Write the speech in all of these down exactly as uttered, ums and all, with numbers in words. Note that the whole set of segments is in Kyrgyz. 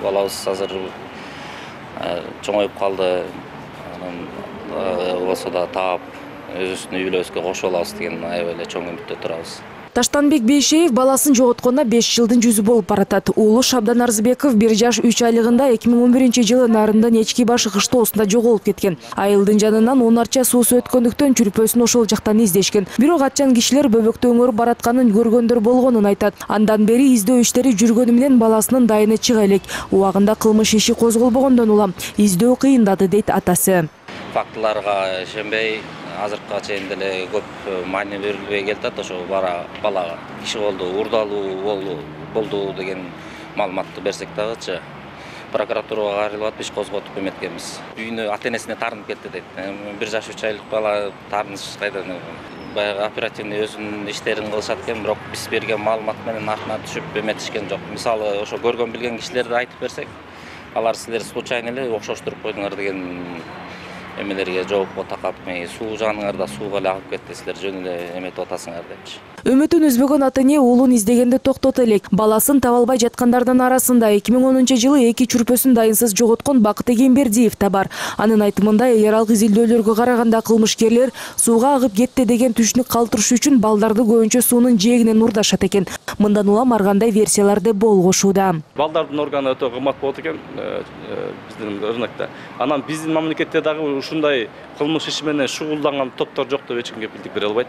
Балабыз азыр чоңоюп калды. Анан болсо да таап өзүбүздүн үй бүлөбүзгө кошуп алабыз деген аябай эле чоң үмүттө турабыз. Таштанбек Бейшеев баласын жоготконуна беш жылдын жүзү болуп баратат. Уулу Шабдан Арзыбеков бир жаш үч айлыгында эки миң он биринчи жылы Нарындын Эчки башы кыштоосунда жоголуп кеткен. Айылдын жанынан он арча суусу өткөндүктөн чүрпөсүн ошол жактан издешкен. Бирок атчан кишилер бөбөктү өңөрүп баратканын көргөндөр болгонун айтат. Андан бери издөө иштери жүргөнү менен баласынын дайыны чыга элек. Убагында кылмыш иши козголбогондон улам издөө кыйындады дейт атасы. Фактыларга ишенбей азыркыга чейин деле көп маани берилбей келатат. Ошо бара бала киши болду, урдалуу болду деген маалыматты берсек дагычы прокуратурага кайрылып иш козготуп эметкенбиз. Үйүнө ата-энесине таарынып кетти дейт. бир жаш үч айлык бала таарыныш кайдан? Баягы оперативный өзүнүн иштерин кылышат экен, бирок биз берген маалымат менен артына түшүп эметишкен жок. Мисалы ошо көргөн билген кишилерди айтып берсек, алар силер случайно эле окшоштуруп койдуңар деген эмелерге жоопко такап, суу жаныңарда сууга эле агып кетти, силер жөн эле эметип атасыңар депчи. Үмүтүн үзбөгөн ата-эне уулун издегенди токтото элек. Баласын таба албай жаткандардын арасында эки миң онунчу жылы эки чүрпөсүн дайынсыз жоготкон Бакыт Эгембердиев да бар. Анын айтымында эл аралык изилдөөлөргө караганда кылмышкерлер сууга агып кетти деген түшүнүк калтырыш үчүн балдарды көбүнчө суунун жээгинен урдашат экен. Мындан улам ар кандай версиялар да болгошууда. Балдардын органы өтө кымбат болот экен биздин рынокто. Анан биздин мамлекетте дагы ушундай кылмыш иши менен шугулданган топтор жок деп эч кимге билдик бере албайт.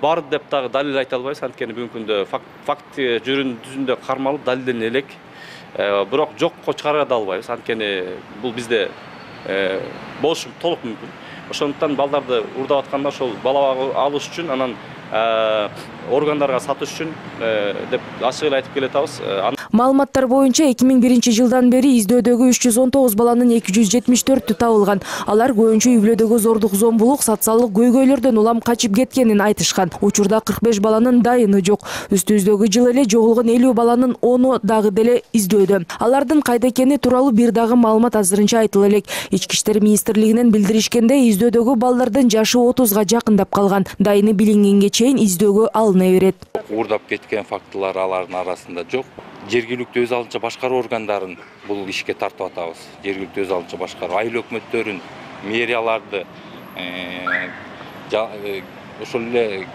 Бар деп дагы далил айта албайбыз, анткени бүгүнкү күндө факт жүрүн түзүндө кармалып далилдене элек. Бирок жокко чыгара да албайбыз, анткени бул бизде болушу толук мүмкүн. Ошондуктан балдарды урдап атканда ошол бала алыш үчүн, анан органдарга сатыш үчүн деп ачык эле айтып келатабыз. Маалыматтар боюнча эки миң биринчи жылдан бери издөдөгү үч жүз он тогуз баланын эки жүз жетимиш төртү табылган. Алар көбүнчө үй бүлөдөгү зордук, зомбулук, социалдык көйгөйлөрдөн улам качып кеткенин айтышкан. Учурда кырк беш баланын дайыны жок. Үстүбүздөгү жылы эле жоголгон элүү баланын ону дагы деле издөөдө. Алардын кайда экени тууралуу бир дагы маалымат азырынча айтыла элек. Ички иштер министрлигинен билдиришкенде, издөөдөгү балдардын жашы отузга жакындап калган. Дайыны билингенге чейин издөөгө алына берет. Урдап кеткен фактылар алардын арасында жок. Жергиликтүү өз алынча башкаруу органдарын бул ишке тартып атабыз. Жергиликтүү өз алынча башкаруу айыл өкмөттөрүн, мэрияларды ошол эле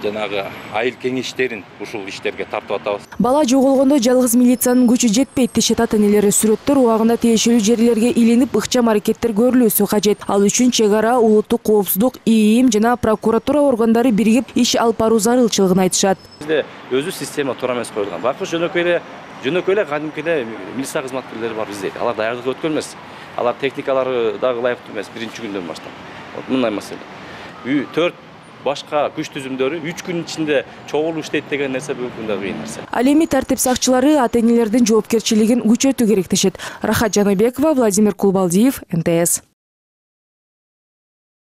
жанагы айыл кеңештерин ушул иштерге тартып атабыз. Бала жоголгондо жалгыз милициянын күчү жетпейт дешет ата-энелери. Сүрөттөр убагында тиешелүү жерлерге илинип, ыкчам аракеттер көрүлүүсү кажет. Ал үчүн чек ара, улуттук коопсуздук, ИИМ жана прокуратура органдары биригип иш алып баруу зарылчылыгын айтышат. Бизде өзү система туура эмес коюлган. Байкуш жөнөкөй эле жөнөкөй эле кадимки эле милиция кызматкерлери бар бизде. Алар даярдык өткөн эмес. Алар техникалары дагы ылайыктуу эмес биринчи күндөн баштап. Мындай маселе. төрт башка күч түзүмдөрү үч күн ичинде чогулуп иштейт деген нерсе бүгүнкү күндө кыйын нерсе. Ал эми тартип сакчылары ата-энелердин жоопкерчилигин күчөтүү керек дешет. Рахат Жаныбекова, Владимир Кулбалдиев, эн тэ эс.